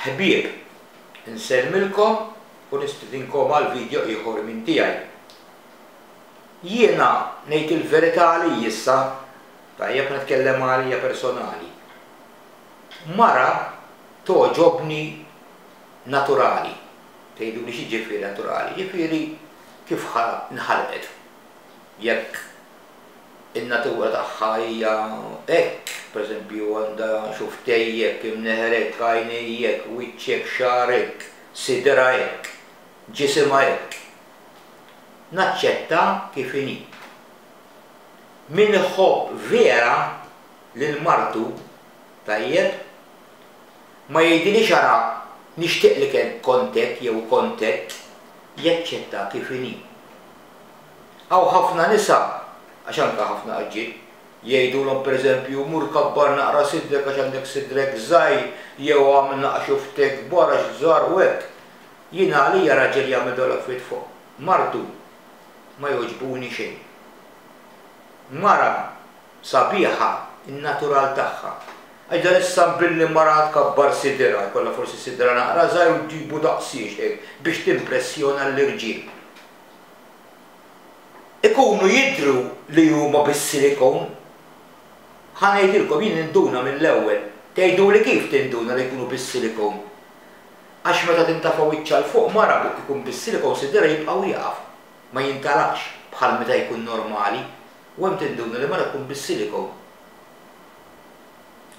Ħbieb, insellmilkom u nistidinkom għal video ieħor minn tiegħi. Jiena ngħid il-verità għalija issa, tajjeb nitkellem għalija personali. Mara togħġobni naturali. Tgħiduli x'jiġifieri naturali? Jiġifieri kif nħalqet. Jekk in-natura tagħha hija hekk, pereżempju għandha xuftej hekk, imneħer hekk, għajnej hekk, wiċċ hekk, xagħar hekk, siderha hekk, ġisimha hekk. Naċċetta kif inhi. Min iħobb vera lil martu, tajjeb, ma jgħidilhiex ara nixtieq li kont hekk jew kont hekk, jaċċetta kif inhi. Hawn ħafna nisa, għax anke ħafna rġiel, jgħidulhom pereżempju mur kabbar naqra sidrek għax għandek sidrek żgħir jew agħmel naqra xuftek kbar għax żgħar u hekk. Jiena għalija raġel jagħmel dawn l-affarijiet fuq martu ma jogħġbuni xejn. Mara sabiħa n-natural tagħha. Għax dan issa billi mara tkabbar sidirha, jkollha forsi sidra naqra żgħir u ġġibu daqsiex hekk biex timpressjona l-irġiel. Ikunu jidhru li huma bis-silikon. Ħa ngħidilkom, jien ninduna mill-ewwel. Tgħiduli kif tinduna li jkunu bis-silikon? Għax meta tintafa' wiċċha 'l fuq mara ikun bis-silikon sidirha jibqa' wieqaf, ma jintalaqx bħal meta jkun normali. U hemm tinduna li mara tkun bis-silikon.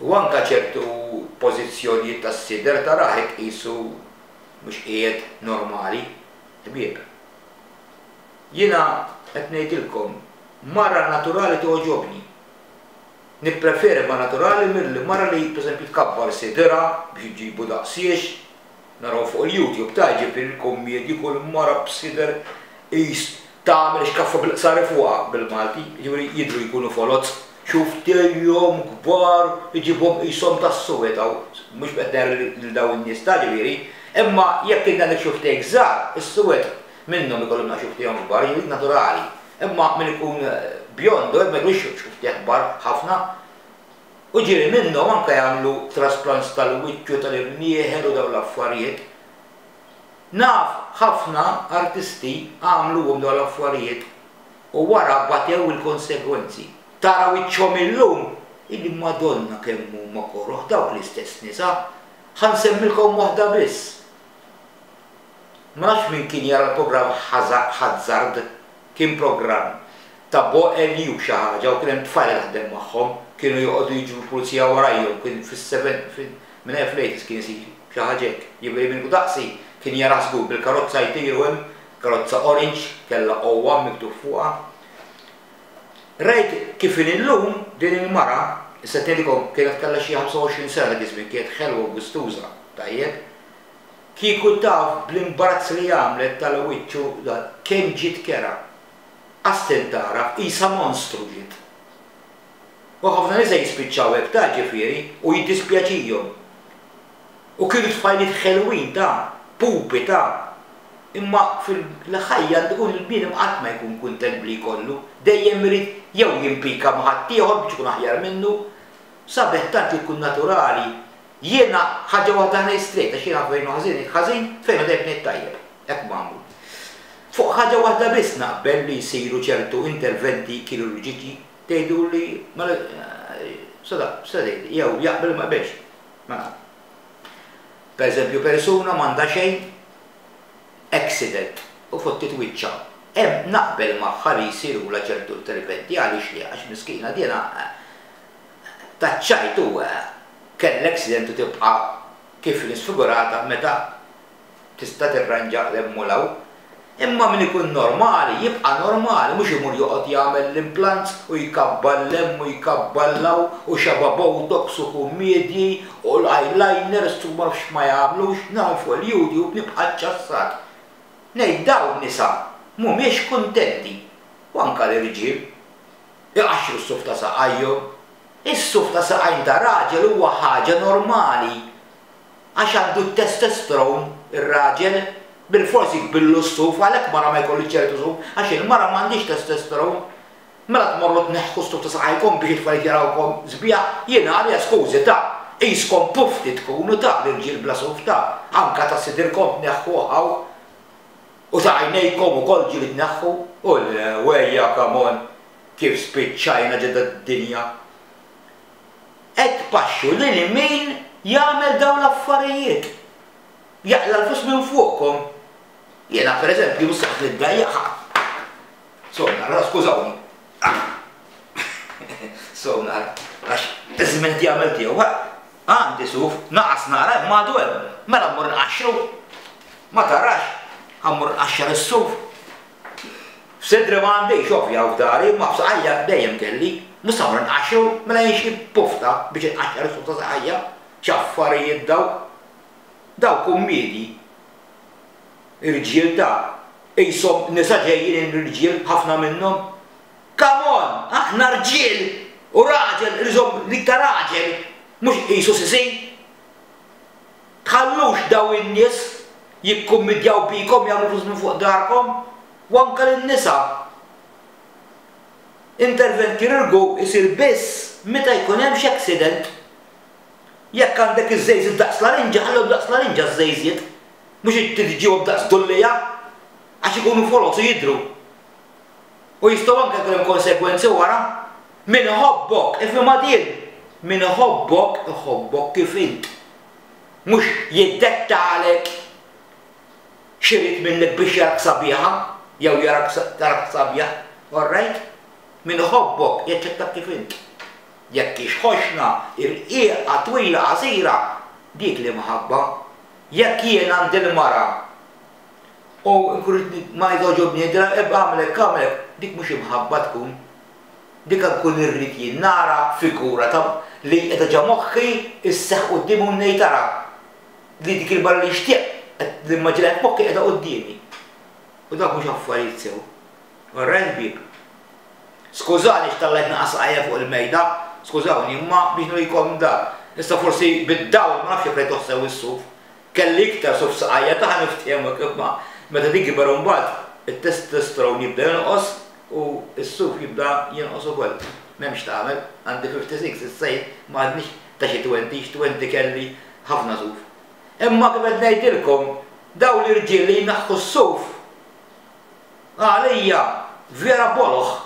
U anke ċertu pożizzjonijiet tas-sider tarah hekk qisu mhux qiegħed normali. Ħbieb. Jiena qed ngħidilkom, mara naturali togħġobni. Nippreferi mara naturali milli mara li pereżempju tkabbar sidirha biex iġġibu daqsiex. Naraw fuq il-YouTube ta' jiġifieri l-kummedji kull mara b'sider qis tagħmel xkaffa bil-qsari fuqha bil-Malti, jiġifieri jidhru jkunu foloz. Xufftejhom kbar iġibhom qishom tas-suwed hawn, mhux qed ngħajjar lil dawn in-nies ta' ġifieri, imma jekk int għandek xufftejk żgħar, is-suwed minnhom ikollhom naqra xufftejhom kbar, jiġifieri dik naturali. Imma min ikun bjondo hekk ma jkollux xufftejh kbar ħafna. U ġieli minnhom anke jagħmlu trasplants tal-wiċċ u tal-imnieħer u dawn l-affarijiet. Naf ħafna artisti għamluhom dawn l-affarijiet u wara batew il-konsegwenzi. Tara wiċċhom illum, il-Madonna kemm huma koroh dawk l-istess nisa. Ħa nsemmilkom waħda biss. Ma nafx min kien jara l-programm Hazzard, kien programm ta' Bo Eliu xi ħaġa u kien hemm tfajla taħdem magħhom, kienu joqogħdu jiġru l-pulizija warajhom, kien fis-seven, minn hemm fl-eighties kien isir xi ħaġa hekk. Jiġifieri min hu daqsi kien jarah żgur bil-karozza jtiru hemm Karozza orange, kellha O1 miktub fuqha. Rajt kif inhi llum din il-mara, issa qed ngħidilkom kienet kellha xi 25 sena dak iż-żmien, kienet ħelwa u gustuża, tajjeb. Kieku taf bl-imbarazz li għamlet tal-wiċċ u dan, kemm ġiet kerha. Qas tintgħaraf, qisha monstru ġiet. U ħafna nisa jispiċċaw hekk ta' ġifieri u jiddispjaċihom. U kienu tfajliet ħelwin ta', pupi ta'. Imma fil-ħajja għandu jkun il-bniedem qatt ma jkun kuntent b'li jkollu. Dejjem irid jew jimpika ma' ħaddieħor biex ikun aħjar minnu. Sabiħ tant li tkun naturali. Jiena ħaġa waħda ngħid straight għax jiena fejn hu ħażin ngħid ħażin, fejn hu tajjeb ngħid tajjeb. Hekk magħmul. Fuq ħaġa waħda biss naqbel li jsiru ċertu interventi kirurġiċi. Tgħiduli mela x'se tgħidli? Jew jaqbel jew ma jaqbilx. Mela, per eżempju persuna m'għandha xejn, accident, u fottiet wiċċha. Hemm naqbel magħha li jsirulha ċertu interventi, għaliex le, għax miskina dina taċ-ċajt u kellha accident u tibqa' kif inhi sfigurata meta tista' tirranġa 'l hemm u 'l hawn. Imma min ikun normali jibqa' normali mhux imur joqgħod jagħmel l-implants u jkabbar 'l hemm u jkabbar 'l hawn u xaba' botox u kummiedji u l-eyeliners u ma nafx x'ma jagħmlux, narahom fuq il-youtube nibqa' ċċassat. Ngħid dawn nisa mhumiex kuntenti u anke l-irġiel. Iqaxxru s-suf ta' saqajhom. Is-suf ta' saqajn ta' raġel huwa ħaġa normali. Għax għandu t-testosterone ir-raġel, bilfors jikbirlu s-suf, għalhekk mara ma jkollhiex ċertu suf, għax il-mara m'għandhiex testosterone. Mela tmorru tneħħu s-suf ta' saqajkom biex it-tfajliet jarawkom sbieħ? Jiena għalija skużi ta'. Qiskom pufti tkunu ta' l-irġiel bla suf ta', anka ta' sidirkom tneħħuh hawn u ta' għajnejkom ukoll ġieli tneħħu. U le, wejja come on, kif spiċċajna ġo dad-dinja. Qed tpaxxu lil min jagħmel dawn l-affarijiet. Jaqla' l-flus minn fuqkom. Jiena pereżempju mhux se noqgħod niddejjaq. So nara, skużawni. So nara, għax iż-żmien qed jagħmel tiegħu. Għandi suf, naqas nara imma għadu hemm. Mela mmur nqaxxru. Ma tarax, ħa mmur nqaxxar is-suf. F'sidri ma għandix, ovvja, u f'dari, imma f'saqajja dejjem kelli. Mhux se mmur nqaxxru, mela jien xi pufta biex inqaxxar is-suf ta' saqajja. X'affarijiet dawk. Dawk kummiedji. Irġiel ta'. Qishom nisa ġejjin l-irġiel ħafna minnhom. Come on! Aħna rġiel! U raġel irid iżomm l-iktar raġel, mhux qisu sisi. Tħallux dawn in-nies jikkummidjaw bikom jagħmlu flus minn fuq darkom. U anke lin-nisa. Intervent kirurgu jsir biss meta jkun hemm xi accident. Jekk għandek iż-żejżiet daqs larinġa, ħallihom daqs larinġa ż-żejżiet. Mhux tġibhom daqs dulliegħa, għax ikunu foloz u jidhru. U jistgħu anke jkun hemm konsegwenzi wara. Min iħobbok, ifhimha din, min iħobbok, iħobbok kif int. Mhux jiddettalek x'irid minnek biex jarak sabiħa jew jarak tarak sabiħ. All right? Min iħobbok jaċċettak kif int. Jekk hix ħoxna, irqiqa, twila, qasira, dik l-imħabba. Jekk jien għandi l-mara u nkun rrid ma jogħġobni ngħidilha ebqa' agħmel hekk agħmel hekk, dik mhux imħabba tkun. Dik nkun irrid jien nara figura ta' li qiegħda ġa moħħi sseħħ quddiemi u ngħid ara li dik il-mara li nixtieq qed nimmaġinaha f'moħħi qiegħda quddiemi. U dawk mhux affarijiet sew. Alright ħbieb? Skużani x'tallajt naqa' saqajja fuq il-mejda, skużawni, imma biex nurikom dak. Issa forsi bid-dawl ma nafx jekk rajtuh sew is-suf. Kelli iktar suf f'saqajja ta' ħa niftehmu imma meta tikber imbagħad it-testosterone jibda jonqos u s-suf jibda jonqos ukoll. M'hemm x'tagħmel, għandi 56 issa jien ma għadnix ta' xi twenty, x'twenty kelli ħafna suf. Imma kif qed ngħidilkom, dawn l-irġiel li jneħħu s-suf, Għalija vera boloh.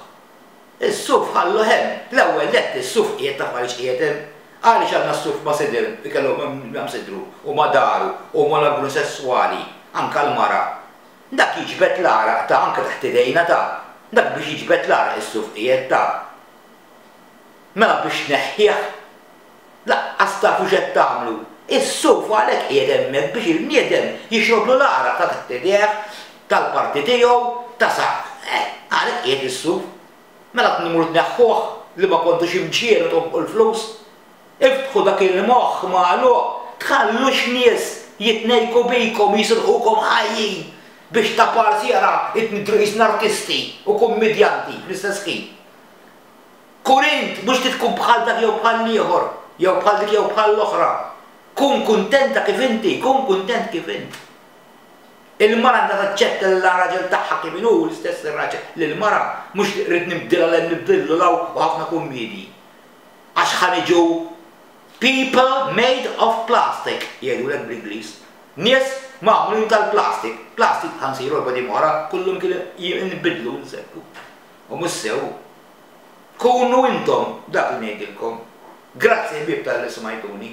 Is-suf ħalluh hemm. L-ewwel nett is-suf qiegħed taf għaliex qiegħed hemm? Għaliex għandna s-suf ma' sidir ikellu ma' sidru u ma' dahru u mal-organu sesswali, anke l-mara. Dak jiġbed l-għaraq ta' anke taħt idejna ta'. Dak biex jiġbed l-għaraq is-suf qiegħed ta'. Mela biex tneħħih? Laqqas tafu x'qed tagħmlu. Is-suf għalhekk qiegħed hemmhekk biex il-bniedem jixroblu l-għaraq ta' taħt idejh, tal-parti tiegħu, ta' sa. Eh, għalhekk qiegħed is-suf. Mela tmur tneħħuh li ma kontux imġiegħlu tonfqu l-flus. Iftħu dak il-moħħ magħluq, tħallux nies jitnejku bikom, jisirqukom ħajjin biex ta' parsi ara nidhru qisna artisti u kummidjanti fl-istess ħin. Kun int, mhux trid tkun bħal dak jew bħal l-ieħor, jew bħal dik jew bħal l-oħra. Kun kuntenta kif inti, kun kuntent kif int. Il-mara għandha taċċetta lil raġel tagħha kif inhu, l-istess ir-raġel lill-mara, mhux rrid nibdilha 'l hemm nibdillu 'l hawn u ħafna kummiedji. Għax ħa niġu people made of plastic, jgħidulek bl-Ingliż. Nies magħmulin tal-plastic. Plastic ħa nsiru erba' ijiem oħra, kullum inbidlu nsekku. U mhux sew. Kunu intom, dak li ngħidilkom. Grazzi ħbieb talli smajtuni.